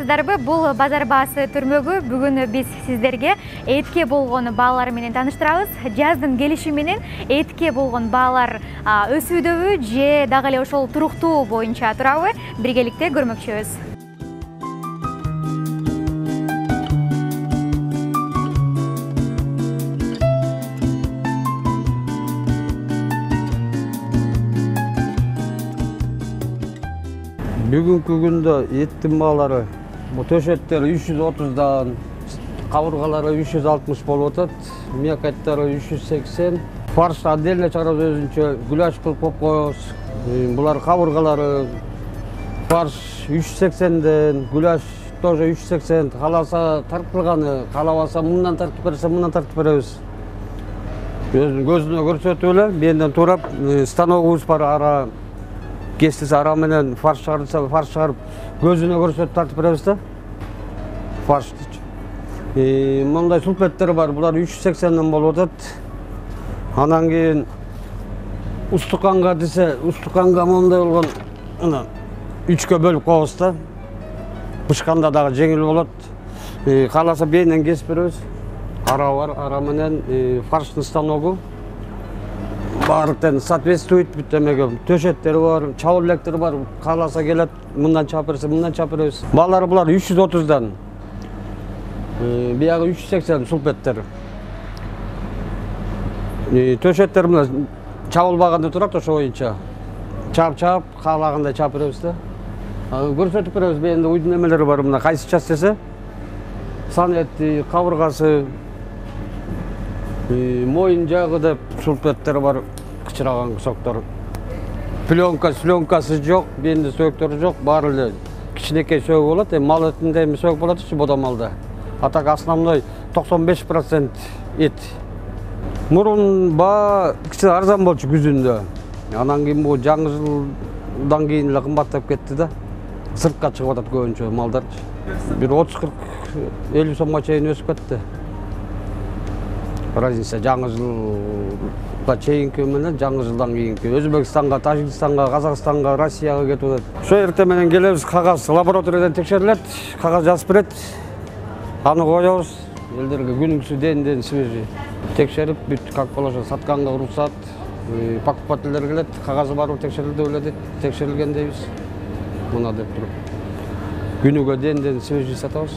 саламатсыздарбы? Бул базар баасы түрмөгү. Бүгүн биз сиздерге этке болгон баалар менен тааныштырабыз. Жаздын келиши менен этке болгон баалар өсүүдөбү же дагы эле ошол туруктуу боюнча турабы? Биргеликте көрмөкчүбүз. Бүгүнкү күндө эттин баалары төшөттөр 330дан, кабыргалары 360 болуп атат, мякаттары 380. Фарш отдельно чыгарабыз өзүнчө, гуляш кылып коюп коебуз. Булар кабыргалары фарш 380ден, гуляш тоже 380. Кааласа тартылганы, каалабаса мындан тартып берсе, мындан тартып беребиз. Көзүнө көрсөтүп эле, менден турап станогубуз бар, ара кестиси ара менен фарш чыгарылса, фарш чыгарып көзүнө көрсөтүп тартып беребиз да. Фарштычы. Мындай сулпеттер бар, булар 380ден болуп атат. Анан кийин устуканга десе, устуканга мондай болгон ана 3кө бөлүп коебуз да. Бышканда дагы жеңил болот. Кааласа бейинен кесип беребиз. Ара бар, ара менен фарштын станогу. Баардыктан соответствует бүттөмөгө. Төшөттөр бар, чабыл электр бар. Кааласа келет, мындан чап берсе, мындан чап беребиз. Баалары булар 330дан. Биягы 380 сулпеттер. Төшөттөр менен чабылбаганда турат ошо боюнча. Чап, каалагандай чап беребиз да. Көрсөтүп беребиз, бенде уйдун эмелери бар, мына кайсы час десе. Санети, кабыргасы, моюн жагы деп сулпеттер бар, кычыраган кусоктор. Пленкасы жок, бенде сөөктөрү жок, баары эле кичинекей сөөгү болот. Мал этинде эми сөөгү болот, бодомалда. А так основной 95% эт. Мурун баа кичине арзан болчу күзүндө. Анан кийин бул жаңы жылдан кийин эле кымбаттап кетти да. Сыртка чыгып атат көбүнчө малдарчы. Бир 30-40-50 сомго чейин өсүп кетти. Разница жаңы жылга чейинки менен жаңы жылдан кийинки. Өзбекстанга, Тажикстанга, Казакстанга, Россияга кетип атат. Ошо эртең менен келебиз, кагаз лабораториядан текшерилет, кагаз жазып берет. Аны коебуз, элдерге күнүгүсү ден свежий. Текшерип, бүт как положено, сатканга уруксат, покупательдер келет, кагазы барбы текшерилди беле дейт, текшерилген дейбиз. Мына деп туруп. Күнүгө ден свежий сатабыз.